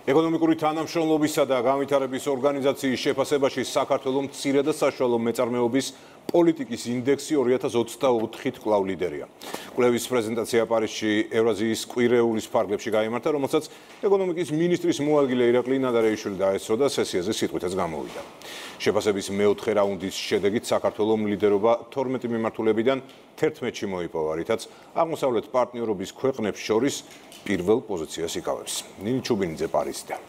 ეკონომიკური თანამშრომლობისა და განვითარების ორგანიზაციის შეფასებაში საქართველოს მცირე და საშუალო მეწარმეობის პოლიტიკის ინდექსი 2024-ით კვლავ ლიდერია. კვლევის პრეზენტაცია პარიზში ევრაზიის კვირეულის ფარგლებში გაიმართა, რომელსაც ეკონომიკის მინისტრის მოადგილე ირაკლი ნადარეიშვილი დაესწრო და სესიაზე სიტყვითაც გამოვიდა. შეფასების მეოთხე რაუნდის შედეგით საქართველოს ლიდერობა 12 მიმართულებიდან 11-ში მოიპოვა, რითაც აღმოსავლეთ პარტნიორობის ქვეყნებს შორის პირველ პოზიციას იკავებს. ნინი ჩუბინიძე პარიზიდან.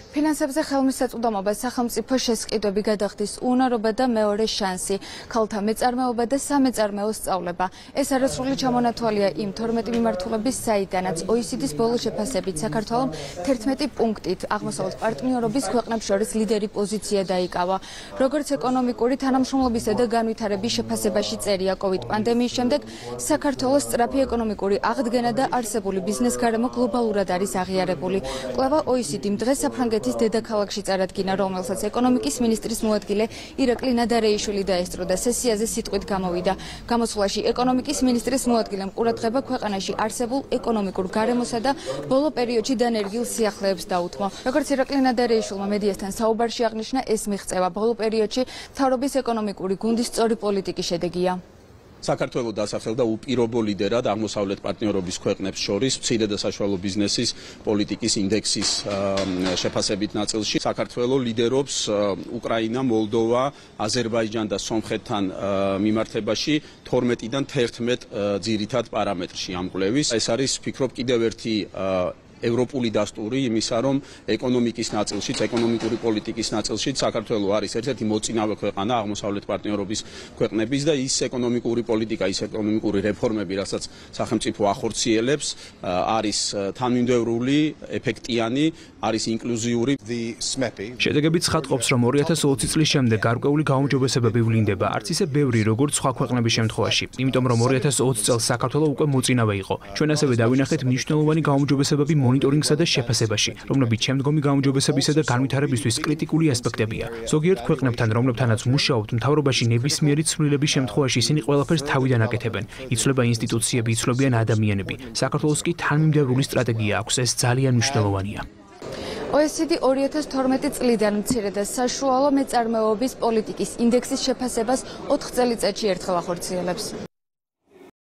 ფინანსებზე ხელმისაწვდომობა სახელმწიფო შესყიდვები გადახდის უნარობა და მეორე შანსი, ქალთა მეწარმეობა და სამეწარმეო სწავლება. ეს არასრული ჩამონათვალია იმ 12 მიმართულების, საიდანაც OECD-ის ბოლო შეფასებით საქართველოს 11 პუნქტით აღმოსავლეთ პარტნიორობის ქვეყნებს შორის ლიდერი პოზიცია დაიკავა. როგორც ეკონომიკური თანამშრომლობისა და განვითარების შეფასებაში წერია, COVID პანდემიის შემდეგ საქართველოს სწრაფი ეკონომიკური აღდგენა და არსებული ბიზნეს გარემო გლობალურად არის აღიარებული. კვლევა OECD-მ დღეს საფრანგეთის დედაქალაქში წარადგინა, რომელსაც ეკონომიკის მინისტრის მოადგილე ირაკლი ნადარეიშვილი დაესწრო და სესიაზე სიტყვით გამოვიდა. გამოსვლაში ეკონომიკის მინისტრის მოადგილემ ყურადღება ქვეყანაში არსებულ ეკონომიკურ გარემოსა და ბოლო პერიოდში დანერგილ სიახლეებს დაუთმო. როგორც ირაკლი ნადარეიშვილმა მედიასთან საუბარში აღნიშნა, ეს მიღწევა ბოლო პერიოდში მთავრობის ეკონომიკური გუნდის სწორი პოლიტიკის შედეგია. საქართველოს დასახელდა უპირობო ლიდერად აღმოსავლეთ პარტნიორობის ქვეყნებს შორის მცირე და საშუალო ბიზნესის პოლიტიკის ინდექსის შეფასებით ნაწილში. საქართველოს ლიდერობს უკრაინა, მოლდოვა, აზერბაიჯანი და სომხეთთან მიმართებაში 12-დან 11 ძირითად პარამეტრში ამ კვლევის. ეს არის, ვფიქრობ, კიდევ ერთი ევროპული დასტური იმისა, რომ ეკონომიკის ნაწილშიც, ეკონომიკური პოლიტიკის ნაწილშიც საქართველოს არის ერთ-ერთი მოწინავე ქვეყანა აღმოსავლეთ პარტნიორობის ქვეყნების და ის ეკონომიკური პოლიტიკა, ის ეკონომიკური რეფორმები, რასაც სახელმწიფო ახორციელებს, არის თანმიმდევრული, ეფექტიანი, არის ინკლუზიური. შედეგები ცხადყოფს, რომ 2020 წლის შემდეგ გარკვეული გაუმჯობესებები ვლინდება, არც ისე ბევრი, როგორც სხვა ქვეყნების შემთხვევაში. იმიტომ რომ 2020 წელს საქართველოს უკვე მოწინავე იყო. ჩვენ ასევე დავინახეთ მნიშვნელოვანი გაუმჯობესებები მონიტორინგსა და შეფასებაში, რომლებიც შემდგომი გაუმჯობესებისა და განვითარებისთვის კრიტიკული ასპექტებია. ზოგიერთ ქვეყნებთან, რომლებთანაც მუშაობთ, მთავრობაში ნებისმიერი ცვლილების შემთხვევაში ისინი ყველაფერს თავიდან აკეთებენ. იცვლება ინსტიტუციები, იცვლებიან ადამიანები. საქართველოს კი თანმიმდევრული სტრატეგია აქვს, ეს ძალიან მნიშვნელოვანია. OECD 2012 წლიდან მცირე და საშუალო მეწარმეობის პოლიტიკის ინდექსის შეფასებას 4 წელიწადში ერთხელ ახორციელებს.